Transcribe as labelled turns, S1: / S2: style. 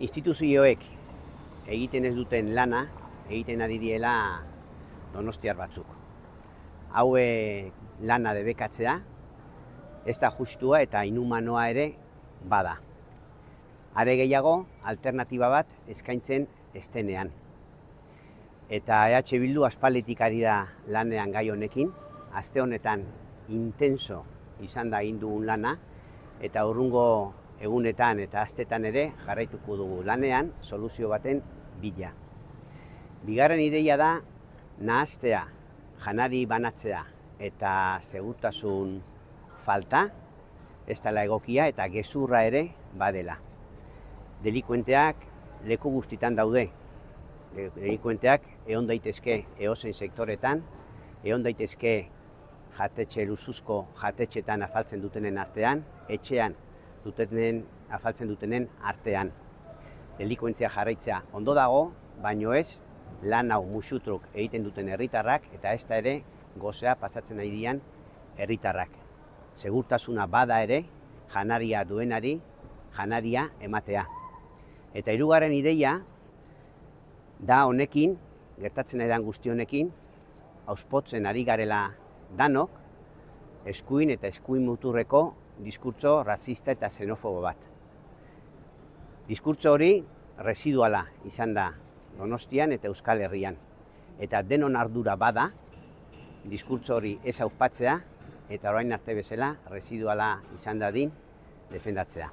S1: instituzioek egiten ez duten lana egiten ari diela donostiar batzuk. Haue lana debekatzea, ez da justua eta inhumanoa ere bada. Are gehiago, alternatiba bat eskaintzen estenean. Eta EH Bildu aspalditik ari da lanean gai honekin, aste honetan intenso izan da egin dugun lana, eta urrungo egunetan eta astetan ere jarraituko dugu lanean soluzio baten bila. Bigarren ideia da nahastea, janari banatzea eta segurtasun falta, ez dela egokia eta gezurra ere badela. Delikuenteak leku guztitan daude. Delikuenteak egon daitezke edozein sektoretan, egon daitezke jatetxe luzuzko jatetxetan afaltzen dutenen artean, etxean afaltzen dutenen artean. Delikuentzia jarraitzea ondo dago, baino ez lan hau musutruk egiten duten herritarrak eta ez da ere gozea pasatzen nahi dian herritarrak. Segurtasuna bada ere, janaria duenari, janaria ematea. Eta hirugarren ideia da honekin, gertatzen ari den guzti honekin, auspotzen ari garela danok, eskuin eta eskuin muturreko diskurtso razista eta xenofobo bat. Diskurtso hori residuala izan da Donostian eta Euskal Herrian. Eta denon ardura bada, diskurtso hori ez auspatzea eta orain arte bezala residuala izan dadin defendatzea.